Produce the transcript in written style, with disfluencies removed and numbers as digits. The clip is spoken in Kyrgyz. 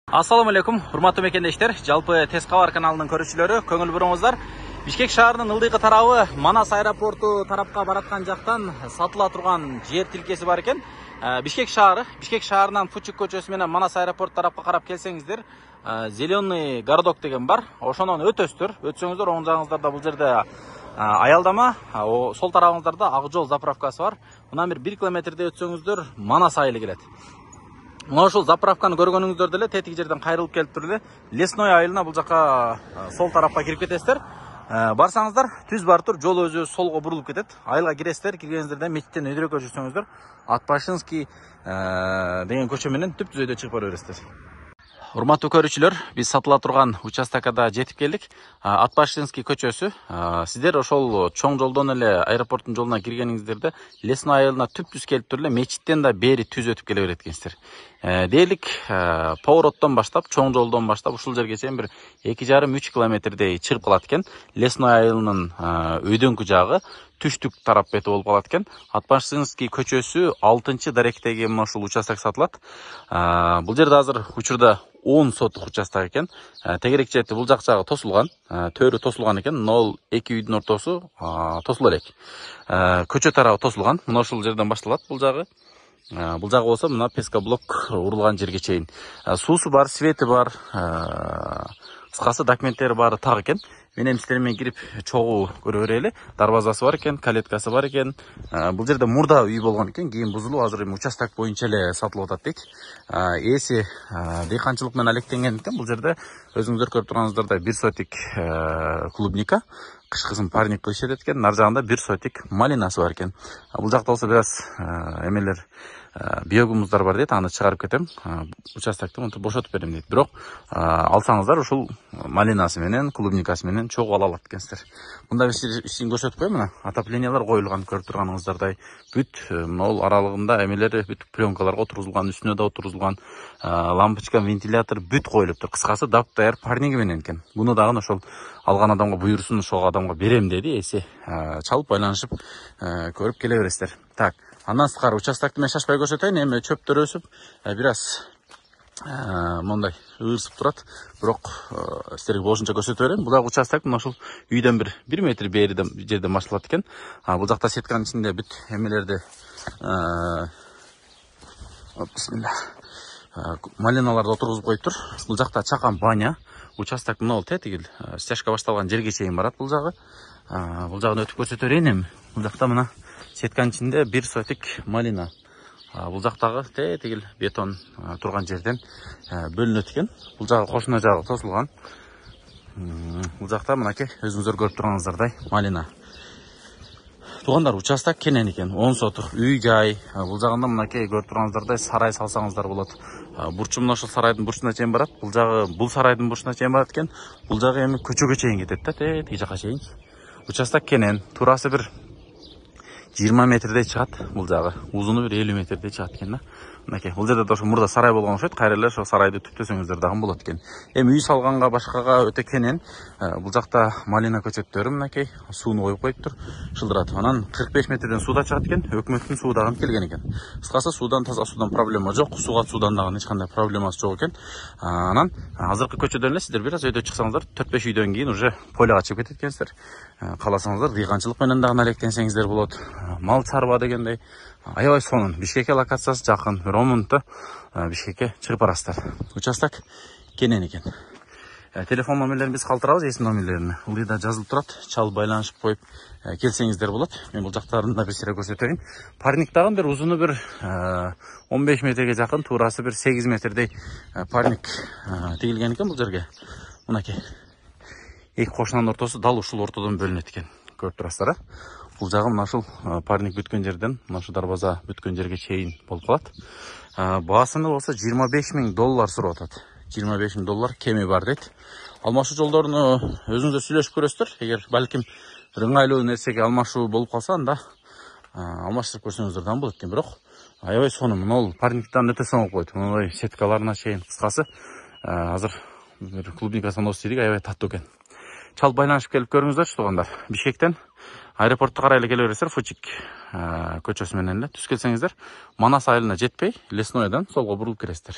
Ассаламу алейкум, урматтуу мекендештер. Жалпы Тез кабар каналынын көрүүчүлөрү, көңүл буруңуздар. Бишкек шаарынын ылдыйкы тарабы Манас аэропорту тарапка бараткан жактан сатыла турган жер тилкеси бар экен. Бишкек шаарынан Фучук көчөсү менен Манас аэропорт тарапка карап келсеңиздер, Зеленый городок деген бар. Ошонон өтөсүздөр. Өтсөңүздөр оң жагыңыздарда бул жерде аялдама, сол тарабыңыздарда Ак жол заправкасы бар. Мына бир 1 километрдей өтсөңүздөр Манас айылы келет. Мына ушул заправканы көргөнүңүздөр деле тетиги жерден кайрылып келип туруп эле Лесной айылына бул жака сол тарапка кирип кетесиздер. Барсаңыздар түз бар тур, жол өзү солго бурулуп кетет. Айылга киресиздер, киргениңиздерде мечиттен өйдөрөккө жүрсөңүздөр Атбашинский деген көчө менен түп-түз өйдө чыгып бара бересиздер. Урматтуу көрүүчүлөр, биз сатыла турган участокко жетип келдик. Атбашинский көчөсү. Сиздер ошол чоң жолдон эле аэропорттун жолуна киргениңиздерде Лесной айылына түп-түз келип туруп эле мечиттен да бери түз өтүп келе берет экенсиздер. Дээрлик повороттон баштап, чоң жолдон баштап ушул жерге чейин бир 2,5-3 километрдей чыгып калат экен. Лесной айылынын өйдөңкү жагы түштүк тарап бети болуп калат экен. Атбашинский көчөсү 6-даректеги мына ушул участок сатылат. Бул жерде азыр учурда 10 сотук участок экен. Тегерек чети бул жак жагы тосулган, төрү тосулган экен. 0-2 үйдүн ортосу тосула элек. Көчө тарабы тосулган. Мына ушул жерден башталат бул жагы. Бул жагы болсо мына пескоблок урулган жерге чейин. Суусу бар, свети бар, кыскасы документтери баары так экен. Мен эми сиздер менен кирип чогуу көрө берели. Дарбазасы бар экен, калеткасы бар экен. Бул жерде мурда үй болгон экен, кийин бузулуп, азыр эми участок боюнча эле сатылып атат дейт. Ээси дыйканчылык менен алектенген экен. Бул жерде өзүңүздөр көрүп турганыңыздардай 1 сотик клубника, кышкысын парник кылышат экен. Нар жагында 1 сотик малинасы бар экен. Бул жакта болсо бир аз эмелер биогумуздар бар дейт, аны чыгарып кетем. Участокты монтип бошотуп берем дейт. Бирок алсаңыздар ушул малинасы менен, клубникасы менен чогуу ала алат экенсиздер. Мында бир ишин көрсөтүп коем, мына отоплениялар коюлган, көрүп турганыңыздардай. Бүт могул аралыгында эмелери бүт пленкаларга отурулган, үстүнө да отурулган, лампочка, вентилятор бүт коюлуптур. Кыскасы дап даяр парниги менен экен. Буну дагы ошол алган адамга буйрусун ошол адамга берем деди. Эси чалып байланышып көрүп келе бересиздер. Так, андан сырткары участокты мен шашпай көрсөтөйүн. Эми чөптөр өсүп, бир аз мондай ырсып турат. Бирок сиздерге болушунча көрсөтүп берем. Бул дагы участок мына ушул үйдөн бир 1 метр бериден жерден башталат экен. Бул жакта сетканын ичинде бүт эмелерди малиналарды отургузуп коюптур. Бул жакта чакан баня. Участок мына тетигил стяжка башталган жерге чейин барат бул жагы. Бул жагын өтүп көрсөтө берейин эми. Бул жакта мына сетканын ичинде 1 сотик малина. Бул жактагы тетигил бетон турган жерден бөлүнөт экен. Бул жагы кошуна жагы тосулган. Бул жакта мынакей өзүңүздөр көрүп турганыңыздардай малина. Туугандар, участок кенен экен, 10 сотук үй жай. Бул жагында мынакей көрүп турганыңыздардай сарай салсаңыздар болот. Бурчу мына ошол сарайдын бурчуна чейин барат. Бул жагы бул сарайдын бурчуна чейин барат экен. Бул жагы эми көчөгө чейин кетет да, тетиги жака чейин. Участок кенен, туурасы бир 20 метрдей чыгат бул жагы. Узуну бир 50 метрдей чыгат экен да. Мынакей, бул жерде ошо мурда сарай болгон окшойт. Кайра эле ошо сарайды түптөсөңүздөр дагы болот экен. Эми үй салганга башкага өтө кенен. Бул жакта малина көчөттөрү мынакей сууну коюп коюптур, шылдырат. Анан 45 метрден сууда чыгат экен. Өкмөттүн суу дагы келген экен. Кыскасы суудан, таза суудан проблема жок. Суудан дагы эч кандай проблемасы жок экен. Анан азыркы көчөдөн эле сиздер бир аз өйдө чыксаңыздар, 4-5 үйдөн кийин уже поляга чыгып кетет экенсиздер. Кааласаңыздар дыйканчылык менен дагы алектенсеңиздер болот. Мал чарба дегендей аябай сонун. Бишкекке локациясы жакын. 10 мүнөттө Бишкекке чыгып барасыздар. Участок кенен экен. Телефон номерлерин биз калтырабыз, эсим номерлерин. Ылдыйда жазылып турат. Чалып байланышып коюп келсеңиздер болот. Мен бул жактарын да бир сире көрсөтөйүн. Парник дагы бир узуну бир 15 метрге жакын, туурасы бир 8 метрдей парник тигилген экен бул жерге. Мынакей. Эки кошунанын ортосу дал ушул ортодон бөлүнөт экен. Көрүп турасыздар, бул жагы мына ушул парник бүткөн жерден, мына ушул дарбаза бүткөн жерге чейин болуп калат. Баасыны болсо $25,000 сурап атат. $25,000 кеми бар дейт. Алмашуу жолдоруну өзүңүздөр сүйлөшүп көрөсүздөр. Эгер балким ыңгайлуу нерсеге алмашуу болуп калса, анда алмаштырып көрсөңүздөр да болот экен. Бирок аябай сонун. Мына парниктен өтө соңуп койт. Мындай сеткаларына чейин. Кыскасы азыр бир клубникасын осуп жийдик, аябай таттуу экен. Чалып байланышып келип көрүңүздөр, туугандар. Бишкектен аэропортко карай эле келе бересиздер, Фучук көчөсү менен эле түз келсеңиздер, Манас айылына жетпей, Леснойдон солго бурулуп киресиздер.